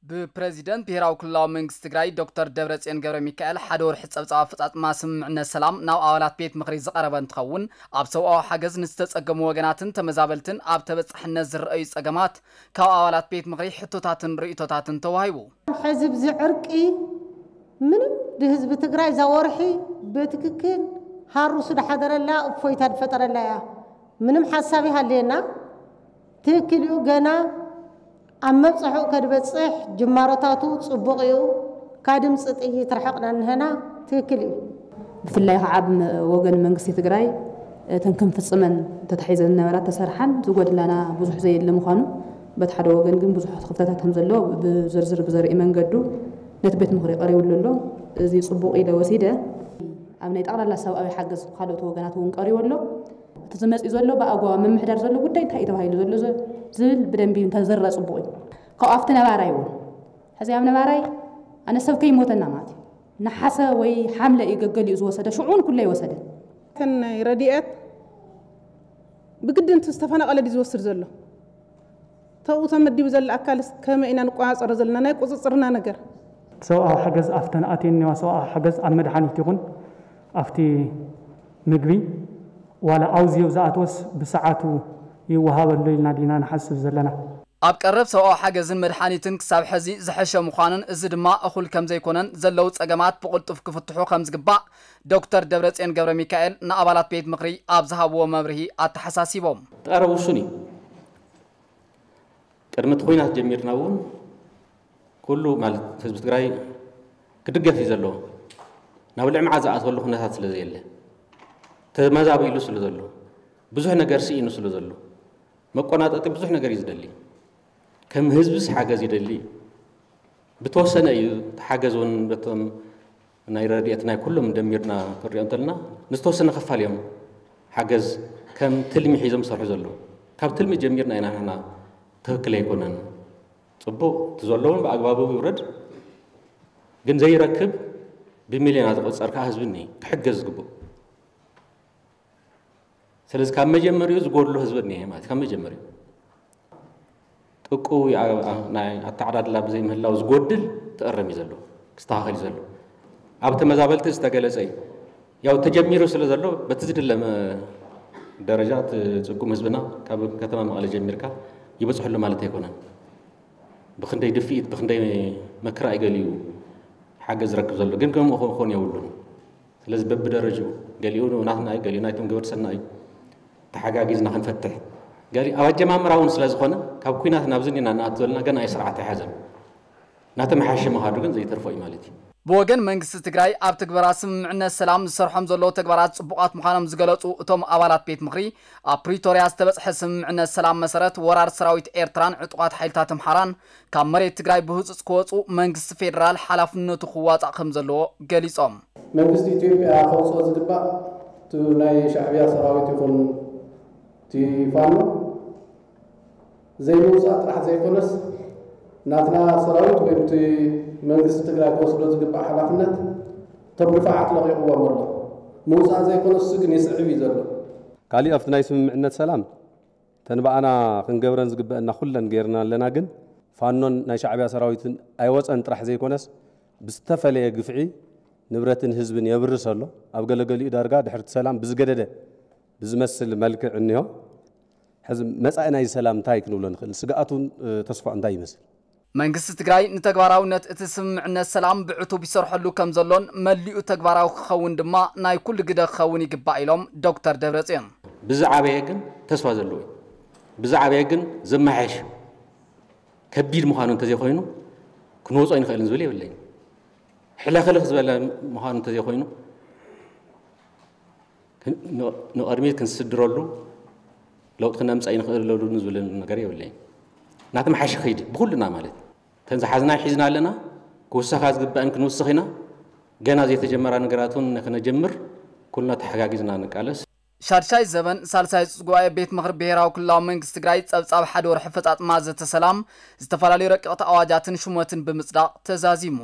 ብፕረዚደንት ብሄራዊ ክልላዊ መንግስቲ ትግራይ ዶክተር ደብረጽዮን ገብረ ሚካኤል ሓደ ወርሒ ጸብጻብ ኣፈጻጽማ ስምምዕነት ሰላም ናብ ኣባላት ቤት ምኽሪ ዝቐረበ እንትኸውን፣ ኣብ ሰብኣዊ ሓገዝ ንዝተጸገሙ ወገናትን ተመዛበልትን ኣብ ተበጻሕነት ዝረኣዩ ጸገማት ካብ ኣባላት ቤት ምኽሪ ሕቶታትን ርእይቶታትን ተዋሂቡ። ሕዚ ብዚ ዕርቂ ምንም ድህዝቢ ትግራይ እዛ ወርሒ ብትክክል ሃሩሱ ድሓደረላ እፎይታ ድፈጠረላ እያ። ምንም ሓሳብ ይሃልየና ትክክል እዩ። ገና ኣብ መብፅሑ ከድበፅሕ ጅማሮታቱ ፅቡቕ እዩ። ካብ ድምፂ ጥይት ርሕቕና እንሀና ትክክል እዩ። ብፍላይ ከዓ ኣብ ወገን መንግስቲ ትግራይ እተን ክንፍፅመን ተታሒዘን ዝነበራ ተሰርሓን ዝጎድላና ብዙሕ ዘየለ ምዃኑ፣ በቲ ሓደ ወገን ግን ብዙሕ ክፍተታት ከም ዘሎ ብዝርዝር ብዘርኢ መንገዱ ነቲ ቤት ምኽሪ ቀሪቡሉ ኣሎ። እዚ ፅቡቕ ኢለ ወሲደ። ኣብ ናይ ጠቕላላ ሰብኣዊ ሓገዝ ካልኦት ወገናት እውን ቀሪቡ ኣሎ። እቲ ዝመፅእ ዘሎ ብኣግባቡ ምምሕዳር ዘሎ ጉዳይ እንታይ እዩ ተባሂሉ ዘሎ ዝብል ብደንቢ እንተዝረእ ፅቡቕ እዩ። ካብኡ ኣብቲ ነባራይ እውን ሕዚ ኣብ ነባራይ ኣነ ሰብ ከይሞተና ማለት እዩ። ነሓሰ ወይ ሓምለ እዩ ገገሊኡ ዝወሰደ፣ ሽዑን ኩለ ይወሰደ። እተን ናይ ረድኤት ብግድን እቲ ዝተፈናቐለ ድዩ ዝወስድ ዘሎ? ተብኡ ተመዲቡ ዘሎ ኣካልስ ከመይ ኢና ንቆፃፀሮ ዘለና ናይ ቁፅፅርና ነገር? ሰብኣዊ ሓገዝ ኣብተን ኣትየን እኒዋ ሰብኣዊ ሓገዝ ኣብ መድሓኒት ይኹን ኣብቲ ምግቢ ዋላ ኣውዝዮ ዝኣትወስ ብሰዓቱ ይወሃበሉ ኢልና ዲና ንሓስብ ዘለና? ኣብ ቀረብ ሰብኣዊ ሓገዝን መድሓኒትን ክሳብ ሕዚ ዝሐሸ ምዃኑን እዚ ድማ እኹል ከም ዘይኮነን ዘለዉ ጸገማት ብቕልጡፍ ክፍትሑ ከም ዝግባእ ዶክተር ደብረጽዮን ገብረ ሚካኤል ንኣባላት ቤት ምኽሪ ኣብ ዝሃብዎ መብርሂ ኣተሓሳሲቦም። እቲ ቀረብ ውሱን እዩ። ቅድሚ እቲ ኹናት ጀሚርና እውን ኩሉ ማለት ህዝቢ ትግራይ ክድገፍ እዩ ዘለዎ። ናብ ልዕማት ዝኣትወሉ ኩነታት ስለ ዘየለ ተመዛቢሉ ስለ ዘሎ ብዙሕ ነገር ስኢኑ ስለ ዘሎ መቆናጠጢ ብዙሕ ነገር እዩ ዝደሊ። ከም ህዝብስ ሓገዝ ይደሊ እዩ። ብተወሰነ እዩ እቲ ሓገዝ እውን በቶም ናይ ረድኤት ናይ ኩሎም ደሚርና ክንሪኦ እንተለና ንዝተወሰነ ክፋል እዮም ሓገዝ ከም ትልሚ ሒዞም ዝሰርሑ ዘለዉ። ካብ ትልሚ ጀሚርና ኢና ንሕና ትኽክል ኣይኮነን። ፅቡቕ እቲ ዘለውን ብኣግባቡ ይውረድ፣ ግን ዘይረክብ ብሚልዮናት ዝቑፀር ከዓ ህዝቢ እኒሀ ክሕገዝ ዝግብኦ። ስለዚ ካብ መጀመሪኡ ዝጎድሎ ህዝቢ እኒሀ ማለት ካብ መጀመሪኡ ጥቁ ናይ ኣተዓዳድላ ብዘይምህላው ዝጎድል ተእረም እዩ ዘሎ ክስተኻኸል እዩ ዘሎ። ኣብ ተመዛበልቲ ዝተገለፀ እዩ። ያው ተጀሚሩ ስለ ዘሎ በቲ ዝድለ ደረጃ እቲ ፅጉም ህዝብና ካብ ከተማ መቐለ ጀሚርካ ይበፅሐሉ ማለት ኣይኮነን። ብክንደይ ድፍኢት ብክንደይ መከራ እዩ ገሊኡ ሓገዝ ዝረክብ ዘሎ፣ ግን ከምኡ ክኾን የብሉን። ስለዚ በብደረጅኡ ገሊኡ ናትና እዩ፣ ገሊኡ ናይቶም ገበርቲ ሰናይ እዩ። ተሓጋጊዝና ክንፈትሕ ገሊ ኣብ ኣጀማምራ እውን ስለ ዝኾነ ካብ ኩናት ናብዚ ኢና ንኣቱ ዘለና፣ ገና እዩ ስርዓት ኣይሓዘን። ናተመሓየሸ ምኻዱ ግን ዘይተርፎ እዩ ማለት እዩ። ብወገን መንግስቲ ትግራይ ኣብ ትግበራ ስምምዕነት ሰላም ዝሰርሖም ዘለዉ ተግባራት ፅቡቓት ምዃኖም ዝገለፁ እቶም ኣባላት ቤት ምኽሪ፣ ኣብ ፕሪቶርያ ዝተበፅሐ ስምምዕነት ሰላም መሰረት ወራር ሰራዊት ኤርትራን ዕጡቓት ሓይልታት ኣምሓራን ካብ መሬት ትግራይ ብህፁፅ ክወፁ መንግስቲ ፌደራል ሓላፍነቱ ክዋፃእ ከም ዘለዎ ገሊፆም። መንግስቲ ኢትዮጵያ ከውፅኦ ዝግባእ እቲ ናይ ሻዕብያ ሰራዊት ይኹን እቲ ፋኖ ዘይምውፃእ ጥራሕ ዘይኮነስ ናትና ሰራዊት ወይ እቲ መንግስቲ ትግራይ ክወስዶ ዝግባእ ሓላፍነት እቶም ድፋዓት ለቒቕዎም ኣሎ። ምውፃእ ዘይኮነስ እሱ ግን ይስዕብ እዩ ዘሎ። ካሊእ ኣብቲ ናይ ስምምዕነት ሰላም እተን ብኣና ክንገብረን ዝግበአና ኩለን ገይርና ኣለና፣ ግን ፋኖን ናይ ሻዕብያ ሰራዊትን ኣይወፀን ጥራሕ ዘይኮነስ ብዝተፈለየ ግፍዒ ንብረትን ህዝብን የብርስ ኣሎ። ኣብ ገለገሊኡ ዳርጋ ድሕርቲ ሰላም ብዝገደደ ብዝመስል መልክዕ እኒሆ። ሕዚ መጻኢ ናይዚ ሰላም እንታይ ክንብሎ ንኽእል? ስግኣቱን ተስፋ እንታይ ይመስል? መንግስቲ ትግራይ ንተግባራውነት እቲ ስምምዕነት ሰላም ብዕቱብ ይሰርሐሉ ከም ዘሎን መሊኡ ተግባራዊ ክኸውን ድማ ናይ ኩሉ ግደ ክኸውን ይግባእ ኢሎም ዶክተር ደብረጽዮን። ብዝዓበየ ግን ተስፋ ዘለዎ እዩ። ብዝዓበየ ግን ዝመሓየሽ ከቢድ ምዃኑ እንተዘይኮይኑ ክንወጾ ኣይንኽእልን ዝብል የብለይን። ሕለኽልኽ ዝበለ ምዃኑ እንተዘይኮይኑ ንቕድሚት ክንስድረሉ ለውጢ ክነምፀእ ኣይንኽእለሉን ዝብል ነገር የብለይን። እናተመሓየሸ ከይዲ ብኩልና ማለት እዩ። እተን ዝሓዝና ሒዝና ኣለና። ክውሰኻ ዝግበአን ክንውስኽ ኢና። ገና ዘይተጀመራ ነገራት እውን ንክነጀምር ኩልና ተሓጋጊዝና ንቃለስ። ሻድሻይ ዘበን ሳልሳይ ፁፅ ጉባኤ ቤት ምኽሪ ብሄራዊ ክልላዊ መንግስቲ ትግራይ ፀብፃብ ሓደ ወርሒ ኣፈፃፅማ ዘተ ሰላም ዝተፈላለዩ ረቀቕቲ ኣዋጃትን ሹመትን ብምፅዳቕ ተዛዚሙ።